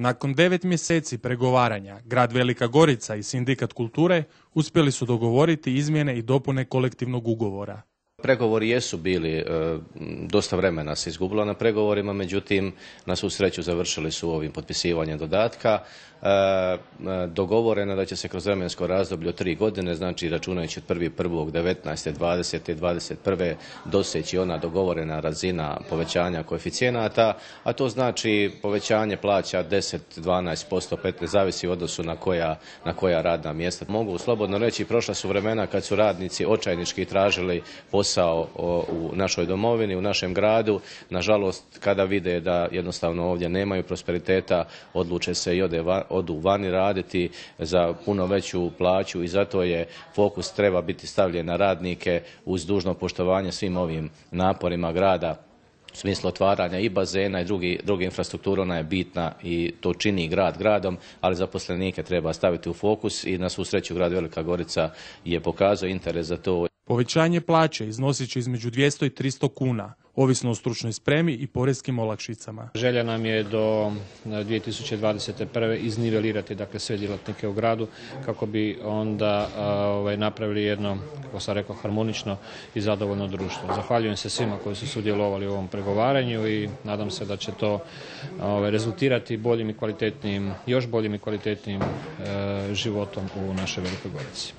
Nakon 9 mjeseci pregovaranja, grad Velika Gorica i Sindikat kulture uspjeli su dogovoriti izmjene i dopune kolektivnog ugovora. Pregovori jesu bili, dosta vremena se izgubilo na pregovorima, međutim, na svu sreću završili su ovim potpisivanjem dodatka. Dogovoreno da će se kroz vremensko razdoblje od 3 godine, znači računajući od 1.1.19., 20. i 21. doseći ona dogovorena razina povećanja koeficijenata, a to znači povećanje plaća 10, 12%, 15%, zavisi u odnosu na koja radna mjesta. Mogu slobodno reći, prošla su vremena kad su radnici očajnički tražili posao u našoj domovini, u našem gradu. Nažalost, kada vide da jednostavno ovdje nemaju prosperiteta, odluče se i odu vani raditi za puno veću plaću i zato je fokus treba biti stavljen na radnike uz dužno poštovanje svim ovim naporima grada u smislu otvaranja i bazena i druge infrastrukture. Ona je bitna i to čini grad gradom, ali zaposlenike treba staviti u fokus i na svu sreću grad Velika Gorica je pokazao interes za to. Povećanje plaće iznosit će između 200 i 300 kuna, ovisno o stručnoj spremi i porezkim olakšicama. Želja nam je do 2021. iznivelirati sve djelatnike u gradu kako bi onda napravili jedno, kako sam rekao, harmonično i zadovoljno društvo. Zahvaljujem se svima koji su sudjelovali u ovom pregovaranju i nadam se da će to rezultirati boljim i kvalitetnijim, još boljim i kvalitetnijim životom u našoj Velikoj Gorici.